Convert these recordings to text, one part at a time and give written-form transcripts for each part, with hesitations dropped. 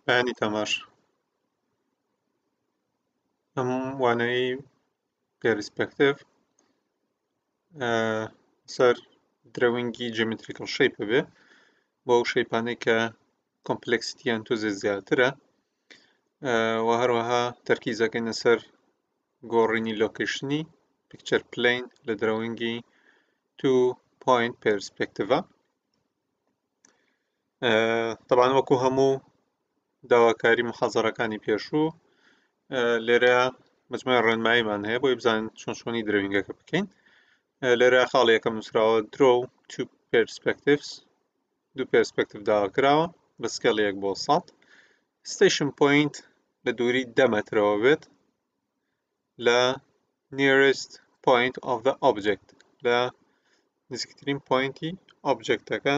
بەیانیتان باش. ئەم وانەیەی perspective سەر drawing ی geometrical shape بێ بۆ ئەو shape انەی کە complexity یان تۆزێ زیاترە و هەروەها تەرکیزەکەینە سەر گۆڕینی location ی picture plane لە drawing ی two point perspective ە. تەبان وەکو هەموو داواکاری محازەرەکانی پێشوو لێرە مجموعی ڕێنماییمان هەیە بۆی بزانین چۆن چۆنی drawing ەکە بکەین. لێرە خاڵی یەکەم نووسراوە draw two perspectives، دوو perspective داوا کراوە بە scale یەک بۆ 100، station point لە دووری 10 مەترەوە بێت لە nearest point of the object، لە نزیکترین point ی object ەکە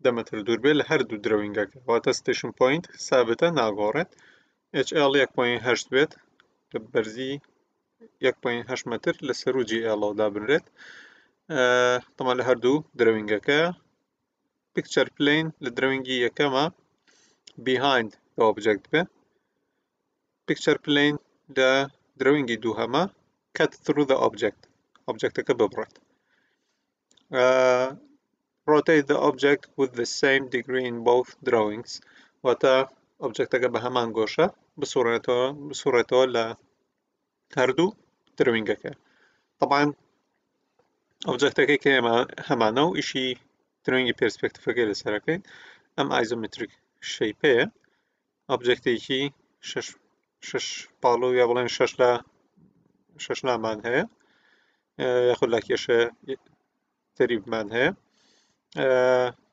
10 مەتر دوور بێت لە هەردوو drawing ەکە، واتە station point سابتە ناگۆڕێت. HL 1.8 بێت لە بەرزی 1.8 مەتر لە سەرو GL ەوە دابنرێت، تەمان لە هەردوو drawing ەکە. picture plane لە drawing ی یەکەمە behind the object بێ، picture plane لە drawing ی دووهەمە cut through the object، object ەکە ببڕێت. Rotate the object with the same degree in both drawings، واتە object ەکە بە هەمان گۆشە بسوڕێتەوە بسوڕێتەوە لە هەردوو drawing ەکە. طبعا object ەکەی کە ئێمە هەمانە و ئیشی drawing ی perspective ەکەی لەسەرەکەین ئەم isometric shape ەیە، object ێکی شەش شەش پاڵو یا بڵێن شەش لە شەش لامان هەیە یاخود لا کێشە تەریبمان هەیە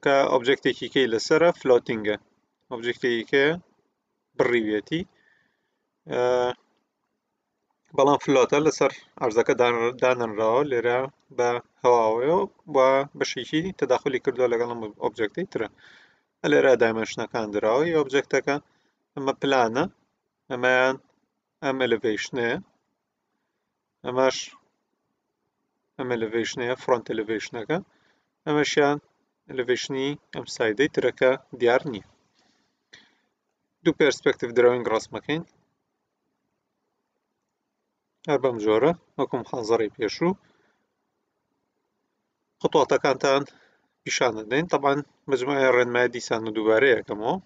کە object ێکی کەی لەسرە floating ە، object ێکی کە بڕیوێتی بەڵام float ە لەسەر ئەرزەکە دانەنراوە، لێرە بە هەواوەیەوە و بەشێکی تەداخلی کردووە لەگەڵ ئەم object ەی ترە. لێرە dimension ەکان دراوە ی object ەکە، ئەمە پلانە، ئەمەیان ئەم elevation ەیە، ئەمەش ئەم elevation ەیە front elevation ەکە، ئەمەشیان elevation ی ئەم side ەی ترەکە دیار نییە. دوو perspective drawing ڕسمەکەین هەر بەم جۆرە وەکو محازەرەی پێشوو خطواتەکانتان پیشان دەدەین. طبعا مجموعەی ڕێنمای دیسان و دووبارە یەکەمەوە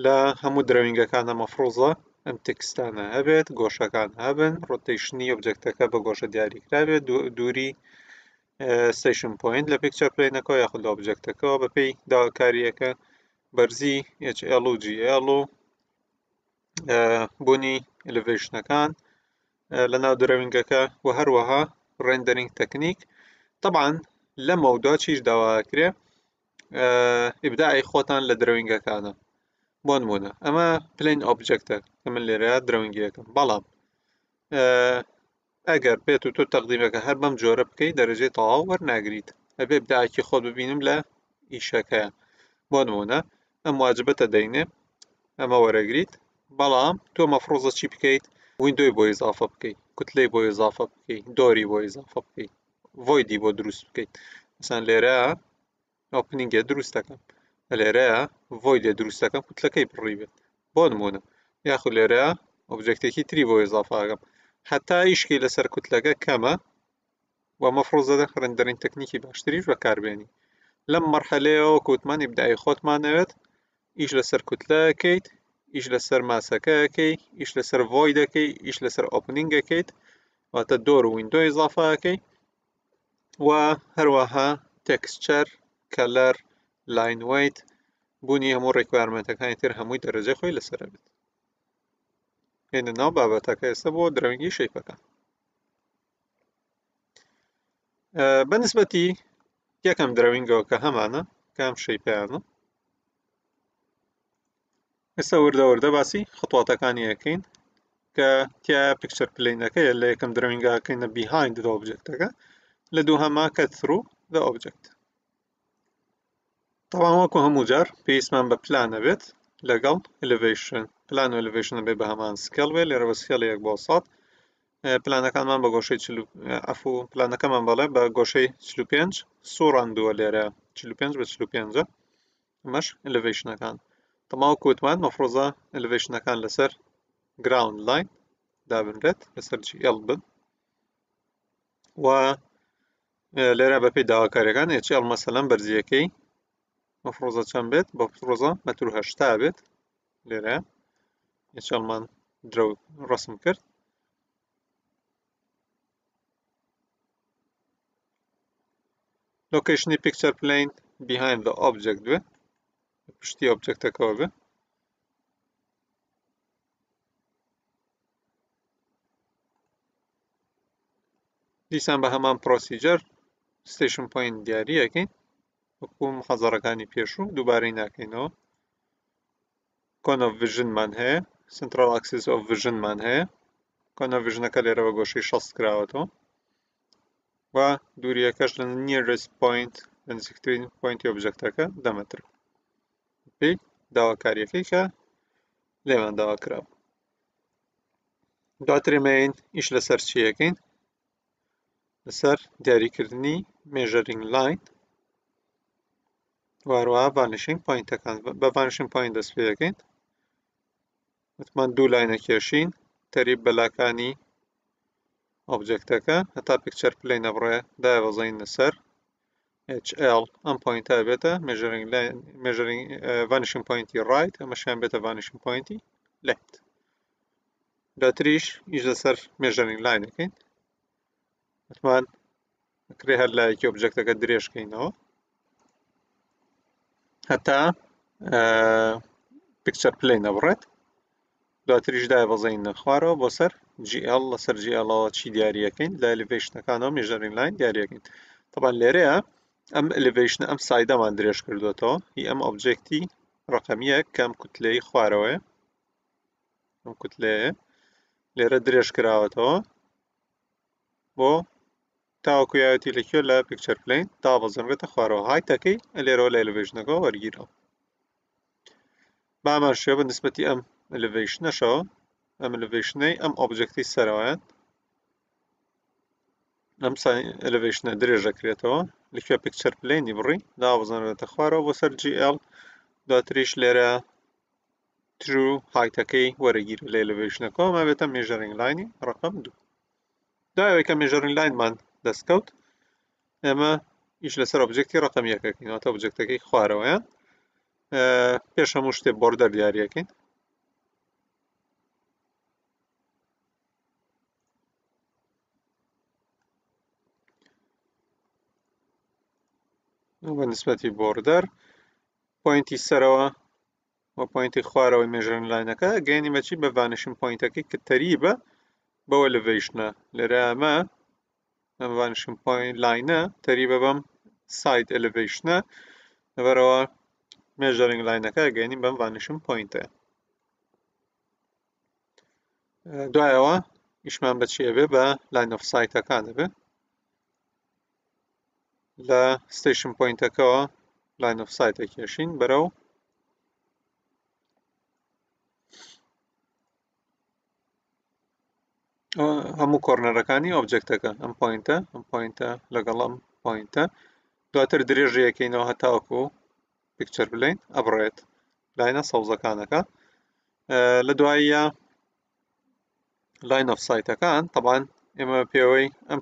لە هەموو drawing ەکانە مەفروزە ئەم text انە هەبێت، گۆشەکان هەبن، rotation ی object ەکە بە گۆشە دیاریکرابێت، دووری station point لە picture plane ەکەوە یاخود لە object ەکەوە بەپێی داواکاریەکە، بەرزی HL و GL و بوونی elevation ەکان لە ناو drawing ەکە و هەروەها rendering technique. طبعا لەمە و دوا چیش داواکرێ ئیبداعی خۆتان لە drawing ەکانە. بۆ نمونە ئەمە plane object ە کە من لێرە drawing ەکەم، بەڵام ئەگەر بێت و تۆ تەقدیمەکە هەر بەم جۆرە بکەیت دەرەجەی تەواو وەرناگریت، ئەبێ ئیبداعێکی خۆت ببینم لە ئیشەکەیە. بۆ نمونە ئەم واجبەتە دەینێ ئەمە وەرەگریت، بەڵام تۆ مەفروزە چی بکەیت؟ window ی بۆ ئیزافە بکەیت، کوتلەی بۆ ئیزافە بکەیت، door ی بۆ ئیزافە بکەیت، void ی بۆ دروست بکەیت. مثلا لێرە opening ێ دروست دەکەم، لێرە void ێ دروست دەکەم کوتلەکەی بڕی بێت بۆ نمونە، یاخود لێرە object ێکی تری بۆ ئیزافە ئەکەم حتا ئیشکی لەسەر کوتلەکە کەمە و مەفروزە rendering technique ی باشتریش بەکاربێنی. لەم مەرحەلەیەوە کوتمان ئیبداعی خۆتمان ئەوێت، ئیش لەسەر کوتلەکەیت، ئیش لەسەر ماسەکەکەی، ئیش لەسەر void ەکەی، ئیش لەسەر opening ەکەیت، واتە door و window ئیزافەکەی و هەروەها texture، color، line weight، بوونی هەموو requirement ەکانی تر هەمووی دەرەجەی خۆی لەسەر بێت. هێنە ناو بابەتەکە ئێستا بۆ drawing ی shape ەکان. بەنسبەتی یەکەم drawing ەوە کە هەمانە کام shape ەیانە، ئێستا وردە وردە باسی خطواتەکانی یەکەین کە تیا picture plane ەکەیە لە یەکەم drawing ەکەینە behind the object ەکە، لە دووهەما cut through the object. طبعا وەکو هەموو جار پێویستمان بە پلانە بێت لەگەڵ elevation. پلان و elevation بێ بە هەمان scale بێ، لێرە بە scale یەک بۆ سەد. پلانەکانمان بە گۆشەی چل و، عەفو، پلانەکەمان بەڵێ بە گۆشەی 45 سوڕاندووە، لێرە 45 بە 45ە. ئەمەش elevation ەکان. تەماو کوتمان مەفرۆزە elevation ەکان لەسەر ground line دابنرێت لەسەر GL بن و لێرە بەپێی داواکاریەکان HL مەسەلەن بەرزیەکەی مەفرۆزە چەند بێت بە پرۆزە مەتر هەشتا بێت لێرە HL مان درەو ڕسم کرد location ی picture plane behind the object بێ پشتی object ەکەوە بێ دیسان بە هەمان procedure station point دیاری ئەەکەین وەکو محەزەڕەکانی پێشوو دووبارەی ناکەینەوە cone of vision مان هەیە central axis of vision مان هەیە cone of vision ەکە لێرە بە گۆشەی 60 کراوەتەوە و دووریەکەش لە nearest point لە نزیکترین point ی object ەکە دە مەتر پێی داواکاریەکەی کە لێمان داوا کرا دواتر ئێمەین ئیش لەسەر چیەکەین لەسەر دیاریکردنی measuring line واروە vanishing point ەکان بە vanishing point دەست پێ دەکەین وتمان دوو line ە کێشین تەریب بەلاکانی object ەکە هەتا picture plane نەبڕێ دایبەزین لەسەر HL ئەم point ە بێتە measuring line measuring vanishing point ی right ئەمەشیان بێتە vanishing point ی left دواتریش ئیش لەسەر measuring line ەکەین وتمان ئەکرێ هەر لایەکی object ەکە درێژکەینەوە هەتا picture plane نەبڕێت دواتریش دایبەزین خوارەوە بۆ سەر GL لەسەر GL ەوە چی دیاریەکەین لە elevation ەکانەوە measuring line دیاریەکەین طبعا لێرەیە ئەم elevation ە ئەم side ەمان درێژ کردوێتەوە هی ئەم object ی ڕقەمیە کەم کوتلەی خوارەوەیە ئەم کوتلەیە لێرە درێژ کراوەتەوە بۆ تاوەکو یاوەتی لە کوێ لە picture plane دابەزێنرێتە خوارەوە height ەکەی لێرەوە لە elevation ەکەوە وەرگیراوە بامان شێوە بە نسبەتی ئەم elevation ەشەوە ئەم elevation ەی ئەم object ی سەرەوەیان ئەم elevation ە درێژ دەکرێتەوە لە کوێ picture plane ی بڕی دابەزێنرێتە خوارەوە بۆ سەر GL دواتریش لێرە true height ەکەی وەرەگیرێت لە elevation ەکەوە ما بێتە measuring line ی ڕقم دوو دوای کە measuring line مان دەستکەوت ئێمە ئیش لەسەر object ی ڕقم یەکەکەین واتە object ەکەی خوارەوەیان پێش هەموو شتێ border دیاریەکەین بە نسبەتی border point ی سەرەوە و point ی خوارەوەی measuring line ەکە گەیەنی بەچی بە vanishing point ەکەی کە تەریبە بەوە elevation ە لێرە ئەمە ئەم vanishing point line ە تەریبە بەم side elevation ە لەبەرەوە measuring line ەکە گەیەنی بەم vanishing point ە دوایەوە ئیشمان بەچی ئەبێ بە line of sight ەکان ئەبێ لە station point ەکەوە line of sight ئەکێشین بەرەو هەموو corner ەکانی object ەکە ئەم point ە ئەم point ە لەگەڵ ئەم point ە دواتر درێژەکەینەوە هەتاوەکو picture plane ئەبڕێت line ە سەوزەکانەکە لە دواییە line of sight ەکان تەبان ئێمە پێوەی ئەم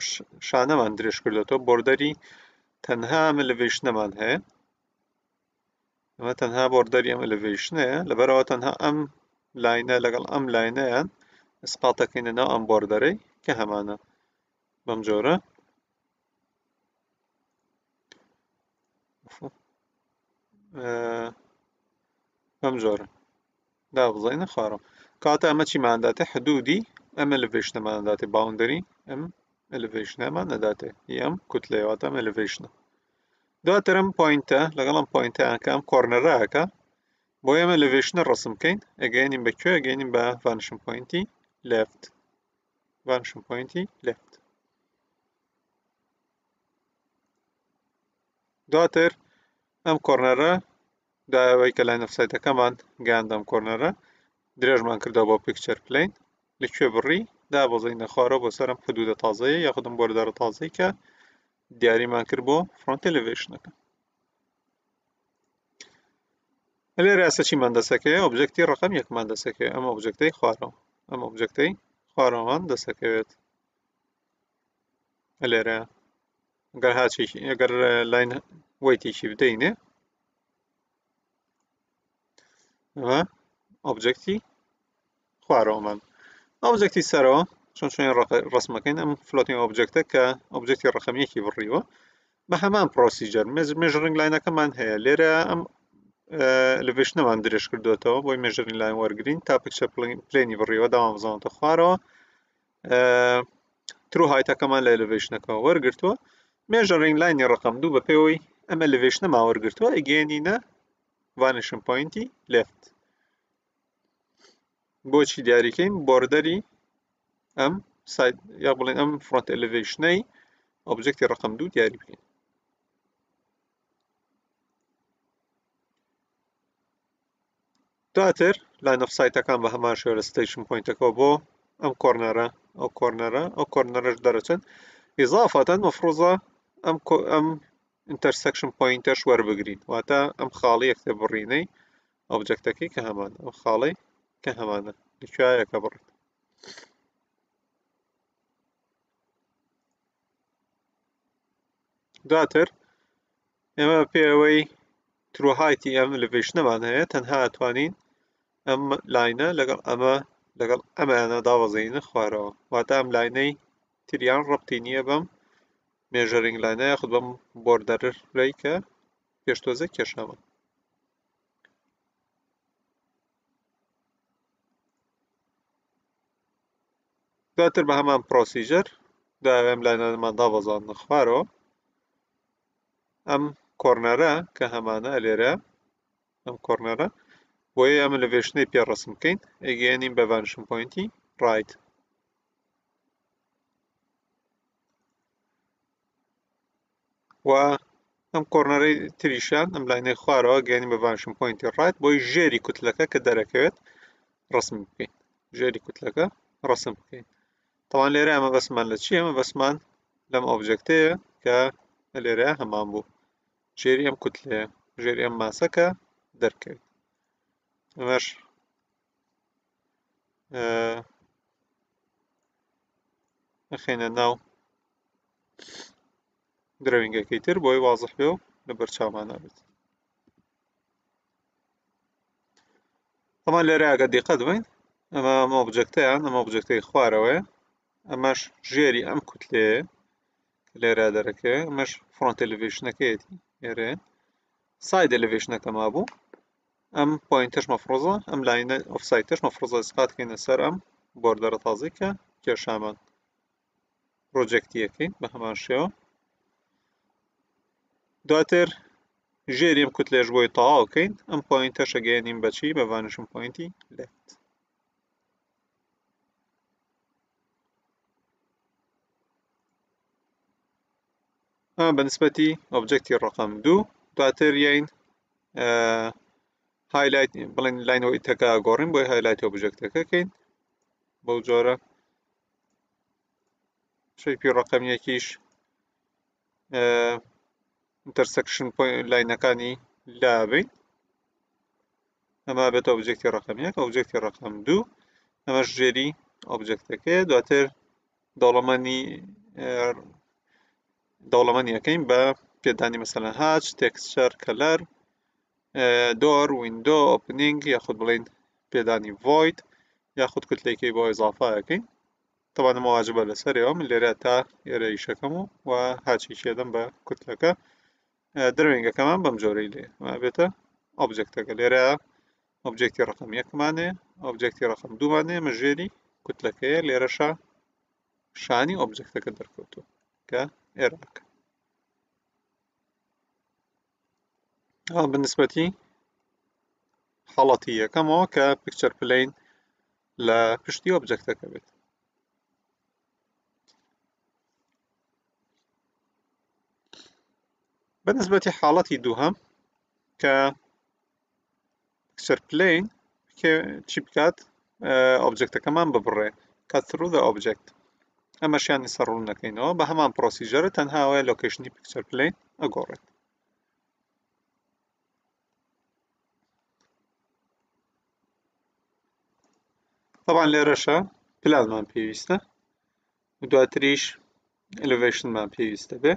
شانەمان درێژ کردێتەوە border ی تەنها ئەم elevation ەمان هەیە ئەمە تەنها border ی ئەم elevation ەیە لەبەرەوە تەنها ئەم line ە لەگەڵ ئەم line ەیان ئسقاتەکەینە ناو ئەم border ەی کە هەمانە بەم جۆرە بەم جۆرە دابزانینە خوارەوە کاتە ئەمە چیمان داتێ حدودی ئەم elevation ەمان داتێ boundary ئەم elevation ەمان نەداتێ هی ئەم کوتلەیە واتە ئەم elevation ە دواتر ئەم point ە لەگەڵ ئەم point ەیان کە ئەم corner ەکە بۆ ئێمە elevation ە ڕسم بکەین ئەگەیەنین بە کوێ ئەگەیەنین بە vanishing point ی left vanishing point ی left دواتر ئەم corner ە دوایەوەی کە line of sight ەکەمان گەیاندەم corner ە درێژمان کردەوە بۆ picture plane لە کوێ بڕی دابەزینە خوارەوە بۆ سەرم حدودە تازەیە یاخودم border ە تازەی کە دیاریمان کرد بۆ front elevation ەکە. لێرە ئێستا چیمان دەسەکەوێ؟ object ی ڕقم یەکمان دەسەکەوێ، ئەم object ەی خوارەوە، ئەم object ەی خوارەوەمان دەسەکەوێت لێرە. گەر hatch ێکی، ئەگەر line weight ێکی بدەینێ، ئەمە object ی خوارەوەمان. object ی سەرەوە چۆن چۆن ڕسمەکەین؟ ئەم floating object ە کە object ی ڕقم یەکی بڕیوە، بە هەمان procedure measuring line ەکەمان هەیە لێرە، ئەم elevation ەمان درێژ کردوێتەوە بۆی measuring line وەرگین تا picture plane ی بڕیوە، داوام بزانێتە خوارەوە. true height ەکەمان لە elevation ەکەەوە وەرگتووە. measuring line ی ڕقم دوو بە پێوەی ئەمە elevation ەمان وەرگتووە، ئەگەێنینە vanishing point ی left. بۆچی دیاریکەین؟ border ی ئەم side یا بڵێن ئەم front elevation ەی object ی ڕقم دوو دیاری بکەین. دواتر line of sight ەکان بە هەمان شێوە لە station point ەکەەوە بۆ ئەم corner ە، ئەو corner ە، ئەو corner ەش دەرەچن. ئیزافەتەن مەفروزە ئەم ئەم intersection point ەش وەربگرین، واتە ئەم خاڵی یەکتر بڕینەی object ەکەی کە هەمان ئەم خاڵی کە هەمانە لەکوایەکە بڕێت. دواتر ئێمە پێوەی true height ی ئەم elevation ەمان هەیە، تەنها ئەتوانین ئەم line ە لەگەڵ ئەمە لەگەڵ ئەمانە دابەزێنە خوارەوە، واتە ئەم line ەی تریان ڕەبتی نییە بەم measuring line ە یاخود بەم border ەی کە پێشتۆزە کێشاوە. دواتر بە هەمان procedure داوێم line انەمان دابەزاندنە خوارەوە. ئەم corner ە کە هەمانە لێرە، ئەم corner ە بۆیە ئەمە elevation ەی پێ ڕسم بکەین، ئەگەیەنین بە vanishing point ی right. و ئەم corner ەی تریشان، ئەم line ەی خوارەوە گەیەنین بە vanishing point ی right بۆی ژێری کوتلەکە کە دەرەکەوێت ڕسم بکەین، ژێری کوتلەکە ڕسم بکەین. طبعا لێرە ئەمە بەسمان لە چییە؟ ئەمە بەسمان لەم object ەیە کە لێرە هەمان بوو، ژێری ئەم کوتلەیە، ژێری ئەم mass ە کە دەرکەوێت. ئەمەش ئەخەینە ناو drawing ەکەی تر بۆی وازح بێ و لە بەرچاومان نابێت. طبعا لێرە ئەگەر دیقەت بین، ئەمە ئەم object ەیان، ئەم object ەی خوارەوەیە، ئەمەش ژێری ئەم کوتلەیە لێرە دەرەکەوێ، ئەمەش front elevation ەکەیەتی لێرەیە، side elevation ەکە مابوو. ئەم point ەش مەفرۆزە، ئەم line ە of sight ەش مەفرۆزە ئیسقات کەینە سەر ئەم border ە تازەی کە کێشامان. project یەکەین بە هەمان شێوە. دواتر ژێری ئەم کوتلێش بۆی تەواو کەین، ئەم point ەش ئەگەیەنین بەچی؟ بە vanishing point ی left. ئەمە بە نسبەتی object ی ڕقم دوو. دواتر یین highlight بڵێن line weight ەکە گۆڕین بۆی highlight object ەکە کەین بەو جۆرە. shape ی ڕقم یەکیش intersection line ەکانی لابین. ئەمە بێتە object ی ڕقم یەک، object ی ڕقم دوو، ئەمەش ژێری object ەکەیە. دواتر دەوڵەمەنی دەوڵەمەنیەکەین بە پێدانی مەسەلەن hatch، texture، color، door، window، opening، یاخود بڵین پێدانی void، یاخود کوتلێکی بۆ ئیزافەکەین. طبعا ئەمە واجبە لەسەرەوە، من لێرە تا ئێرە ئیشەکەم و و hatch ێکی ئەدەم بە کوتلەکە. drawing ەکەمان بەم جۆرەی لێ ئەمە بێتە object ەکە. لێرە object ی ڕقم یەکمانێ، object ی ڕقم دوومانێ، ئەمە ژێری کوتلەکەیە، لێرەشە شانی object ەکە دەرکەوتووە کە ئێراکە. ئەمە بەنسبەتی حاڵەتی یەکەمەوە کە picture plane لە پشتی object ەکە بێت. بەنسبەتی حاڵەتی دووهەم کە picture plane چی بکات؟ object ەکەمان ببڕێ، cut through the object. ئەمەشیان سەر ڕوون نەکەینەوە، بە هەمان procedure ە، تەنها ئەوەیە location ی picture plane ئەگۆڕێت. طبعا لێرەشە پلانمان پێویستە و دواتریش elevation مان پێویستە بێ.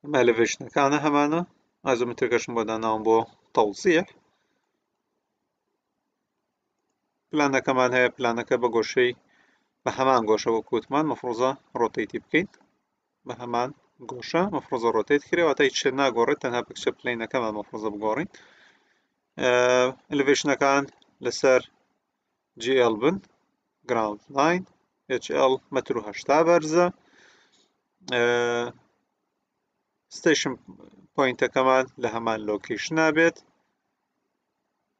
ئەمە elevation ەکانە هەمانە، isometric ەکەشم بۆ داناوم بۆ تەوزیح. پلانەکەمان هەیە، پلانەکە بە گۆشەی بە هەمان گۆشە وەک وتمان مەفروزە rotate ی بکەین، بە هەمان گۆشە مەفروزە rotate کرێ، واتە هیچ شتێک ناگۆڕێت، تەنها picture plane ەکەمان مەفروزە بگۆڕین. elevation ەکان لەسەر GL بن، ground line، HL مەتر و 80 بەرزە. station point ەکەمان لە هەمان location بێت.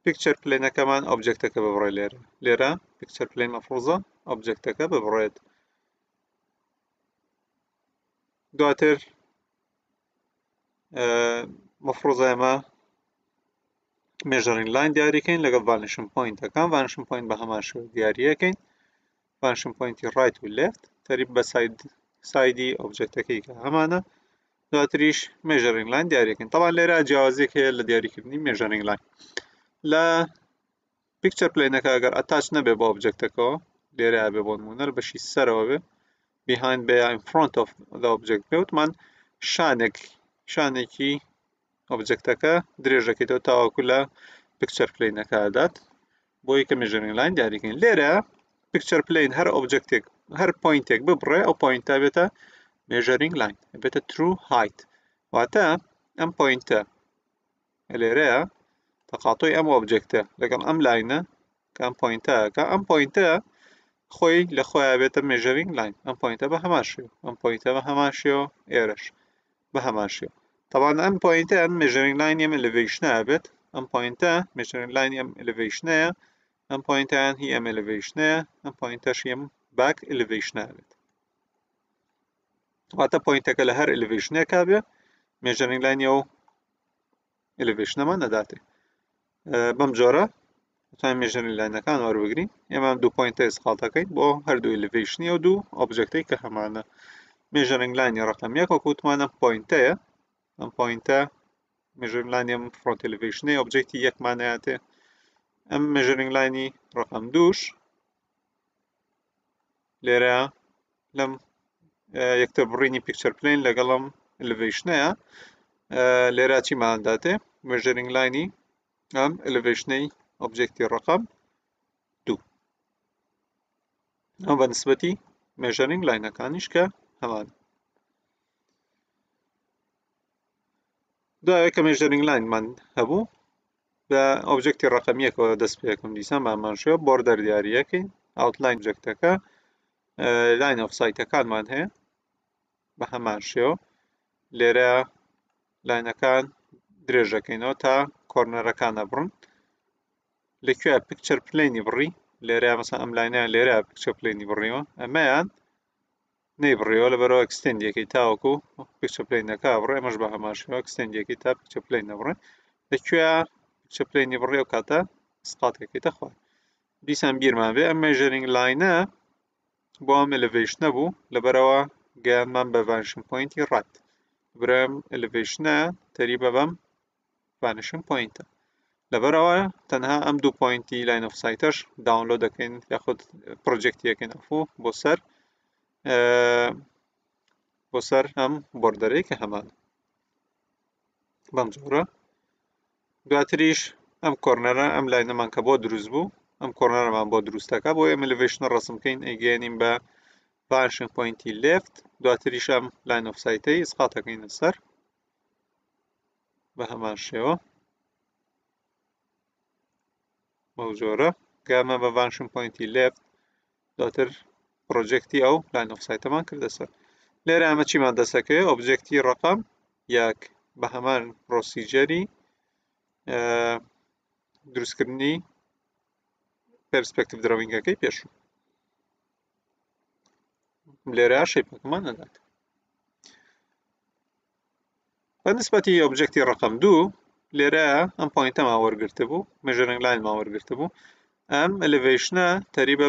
picture plane ەکەمان object ەکە ببڕێ لێرە، لێرە picture plane مەفروزە object ەکە ببڕێت. دواتر مەفروزە ئێمە measuring line دیاریکەین لەگەڵ vanishing point ەکان. vanishing point بە هەمان شێوە دیاریەکەین، vanishing point ی right و left تەریب بە side ی object ەکەی کە هەمانە. دواتریش measuring line دیاریەکەین. طبعا لێرە جیاوازیەک هەیە لە دیاریکردنی measuring line. لە picture plane ەکە ئەگەر attach نەبێ بە object ەکەوە، لێرە بێ بۆ نمونە بەشی سەرەوە بێ، behind بێ in front of the object بێ، وتمان شانێکی object ەکە درێژەکەیتەوە تاوەکو لە picture plane ەکە ئەدات، بۆی کە measuring line دیاریکەین. لێرە picture plane هەر object ێک هەر point ێک ببڕێ، ئەو point ە بێتە measuring line، بێتە true height. واتە ئەم point ە لێرەیە تەقاتۆی ئەم object ە لەگەڵ ئەم line ە کە ئەم point ەکە، ئەم point ە خۆی لە خۆیان بێتە measuring line. ئەم point ە بە هەمان شێوە، ئەم point ە بە هەمان شێوە، ئێرەش بە هەمان شێوە. طبعا ئەم point ە ئەم measuring line ئەم elevation ە بێت، ئەم point ە measuring line ئەم elevation ەیە، ئەم point ەیان هی ئەم elevation ەیە، ئەم point ەش ئەم back elevation ە بێت. واتە point ەکە لە هەر elevation ێکا بێ measuring line ئەو elevation ەمان نەداتێ. بەم جۆرە دەتوانین measuring line ەکان وەربگرین. ئێمە ئەم دوو point ە ئیسقاڵ دەکەین بۆ هەردوو elevation ی ئەو دوو object ەی کە هەمانە. measuring line ی ڕقم یەک وەکو وتمان ئەم point ەیە، ئەم point ە measuring line ی ئەم front elevation ەی object ی یەکمانەیاتێ. ئەم measuring line ی ڕقم دووش لێرە لەم یەکتر بڕینی picture plane لەگەڵم elevation ەیە. لێرە چیمان داتێ؟ measuring line ی ئەم elevation ەی object ی ڕقم دوو. ئەم بە نسبەتی measuring line ەکانیش کە هەمان. دوایە کە measuring line مان هەبوو بە object ی ڕقەمیەکەوە دەست پێکم، دیسان بامان شێوە border دیاریەکەین، outline object ەکە، line of sight ەکانمان هەیە بە هەمان شێوە. لێرە line ەکان درێژەکەینەوە تا corner ەکان ئەبڕن. لەکوێ picture plane ی بڕی؟ لێرە مەسەن ئەم line ەیان لێرە picture plane ی بڕیوە، ئەمەیان نەیبڕیەوە لەبەرەوە extend ەکەی تاوەکو picture plane ەکە بڕێ. ئەمەش بە هەمان شێوە extend ەکەی تا picture plane نەبڕێ. لەکوێ picture plane ی بڕی ئەو کاتە سقاتەکەیتە خوار. دیسان بیرمان بێ ئەم measuring line ە بۆ ئەم elevation ە بوو، لەبەرەوە گەیانمان بە vanishing point ی right. لەبەرەوە elevation ە تەریبە بەم vanishing point ە. لەبەرەوە تەنها ئەم دوو point ی line of sight ەش download دەکەین یاخود project یەکەین ئەفو بۆ سەر ئەم border ەی کە هەمان بەم جۆرە. دواتریش ئەم corner ە ئەم line ەمان کە بۆ دروست بوو، ئەم corner ەمان بۆ دروستەکە بۆ ئێمە elevation ڕسم بکەین، ئەیگەیەنین بە vanishing point ی left. دواتریش ئەم line of sight ەی ئیسقاتەکەینە سەر بە هەمان شێوە بەو جۆرە گەمە بە vanishing point ی left. دواتر project ی ئەو line of sight ەمان کردە سەر. لێرە ئەمە چیمان دەستەکەوێت؟ object ی ڕقم یەک بە هەمان procedure ی دروستکردنی perspective drawing ەکەی پێشوو. لێرە shape ەکەمان نەدات. بە نسبەتی object ی ڕقم دوو لێرە ئەم point ەمان وەرگرتە بوو، measuring line مان وەرگرتە بوو. ئەم elevation ە تەریبە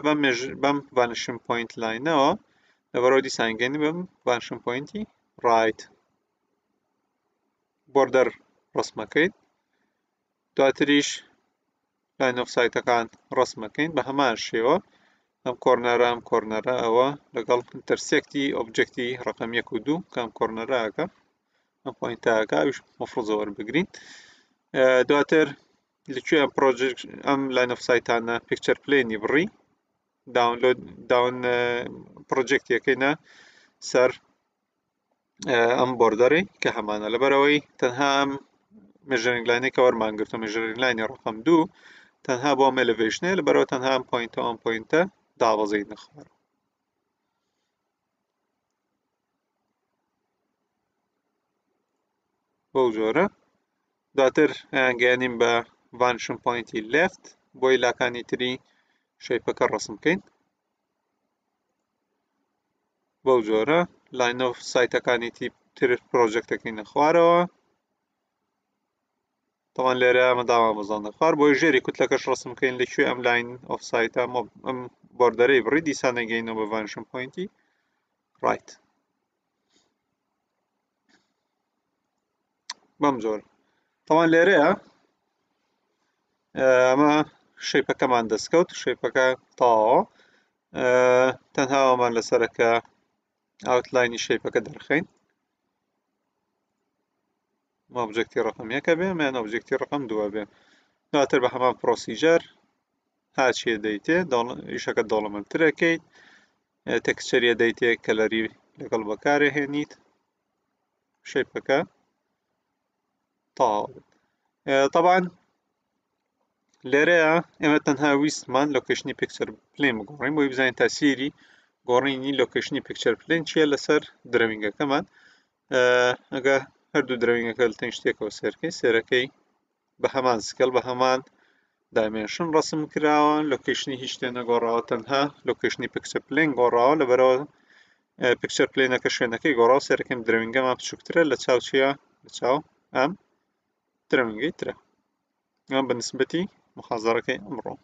بەم vanishing point line ەوە، لەبەرەوە دیسانگەنی بەم vanishing point ی right. border ڕسمەکەین دواتریش line of sight ەکان ڕسمەکەین بە هەمان شێوە ئەم corner ە ئەم corner ە ئەوە لەگەڵ intersect ی object ی ڕقم یەک و دوو کام corner ەکە ئەم point ەکە ئەویش مەفروزە وەربگرین. دواتر لەکوێ ئەم project ئەم line of sight انە picture plane ی بڕی download down project ەکەینە سەر ئەم border ەی کە هەمانە. لەبەرەوەی تەنها ئەم measuring line ێک کە وەرمان گرتو measuring line ی ڕقم دوو تەنها بۆ ئەم elevation ە، لەبەرەوە تەنها ئەم point ە ئەم point ە دابەزینە خوارەوە. بەو جۆرە دواتر گەیانین بە vanishing point ی left بۆی لاکانی تری shape ەکە ڕسم بکەین. بەو جۆرە line of sight ەکانی تر project ەکەینە خوارەوە. طبعا لێرە ئەمە داوا بەزاندە خوار بۆی ژێری کوتلەکەش ڕسم بکەین لە کوێ ئەم line of sight ە ئەم border ەی بڕی دیسان نەگەینەوە بە vanishing point ی right بەم جۆر. طبعا لێرەیە ئەمە shape ەکەمان دەستکەوت، shape ەکە تەواوە. تەنها ئەومان لەسەرە کە outline ی shape ەکە دەرخەین. object ی ڕقم یەکە بێ یان object ی ڕقم دووە بێ. دواتر بە هەمان procedure هاچیە دەیتێ ئیشەکە دەوڵەمەندترەکەیت، texture ە دەیتێ color ی لەگەڵ بەکارهێنیت، shape ەکە تەواو بێت. طبعا لێرەیە ئێمە تەنها ویستمان location ی picture plane بگۆڕین بۆی بزانین تاسیری گۆڕینی location ی picture plane چییە لەسەر drawing ەکەمان. ئەگە هەردوو drawing ەکە لە تەنیشت یەکەوە سێرکەی، سێرەکەی بە هەمان scale بە هەمان dimension ڕسم کراوە، location ی هیچ شتێ نەگۆڕاوە، تەنها location ی picture plane گۆڕاوە. لەبەرەوە picture plane ەکە شوێنەکەی گۆڕاوە، سێرەکەم drawing ەمان بچووکترە لە چاو چییە؟ لە چاو ئەم drawing ەی ترە. ئەم بە نسبەتی محازەرەکەی ئەمڕۆ.